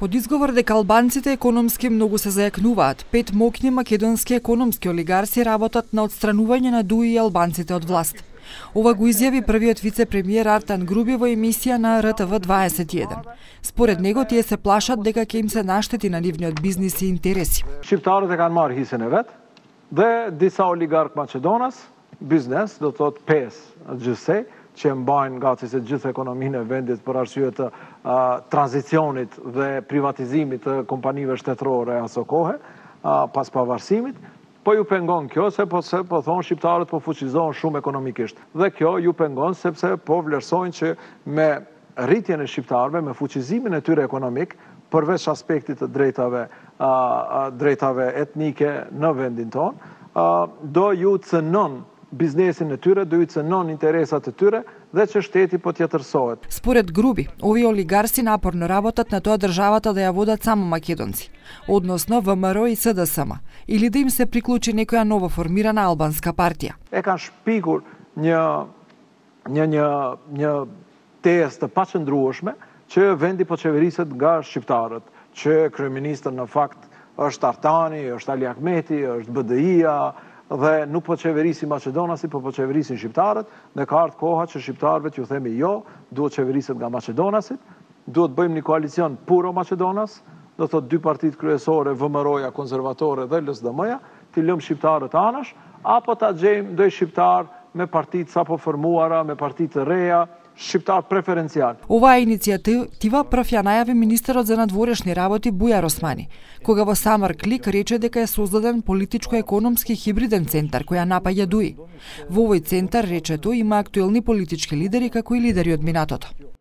Под изговор дека албанците економски многу се зајакнуваат, 5 моќни македонски економски олигарси работат на отстранување на ДУИ и албанците од власт. Ова го изјави првиот вице-премиер Артан Груби во емисија на РТВ 21. Според него тие се плашат дека ќе им се наштети на нивниот бизнис и интереси. Шqiptarët e kanë marrë hisën e vet dhe disa oligark Maqedonas, biznes, do të thotë 5 gjithsej, që mbajnë gati se gjithë ekonominë e vendit për arsye të tranzicionit dhe privatizimit të kompanive shtetërore aso kohe, pas pavarësimit, po ju pengon kjo se po thonë shqiptarët po fuqizohen shumë ekonomikisht. Dhe kjo ju pengon sepse po vlerësojnë që me rritjen e shqiptarëve, me fuqizimin e tyre ekonomik, përveç aspektit të drejtave etnike në vendin tonë, do ju cënon biznesin e tyre, do ju cënon interesat e tyre dhe që shteti po t'jetërsohet. Според Груби, овие олигарси напорно работат на тоа државата да ја водат само македонци, односно ВМРО и СДСМ, или да им се приклучи некоја ново формирана албанска партија. E kanë shpikur një tezë të paqëndrueshme që vendi po qeveriset nga shqiptarët, që kryeministri në fakt është Artani, është Ali Ahmeti, është BDI-a, dhe nuk po qeverisi Maqedonasi, po qeverisin shqiptarët, dhe ka ardhur koha që shqiptarëve t'ju themi jo, duhet qeveriset nga Maqedonasit, duhet bëjmë një koalicion puro Maqedonas, do të thotë 2 partitë kryesore, VMRO-ja, konservatore dhe LSDM-ja, t'i lëmë shqiptarët anash, apo ta gjejmë ndonjë shqiptar me partitë sapo formuara, me partitë të reja, shqiptar preferenciјал. Оваа иницијатива прв ја најави министерот за надворешни работи Бујар Османи, кога во самар клик рече дека е создаден политичко-економски хибриден центар која напаѓа ДУИ. Во овој центар, рече тој, има актуелни политички лидери како и лидери од минатото.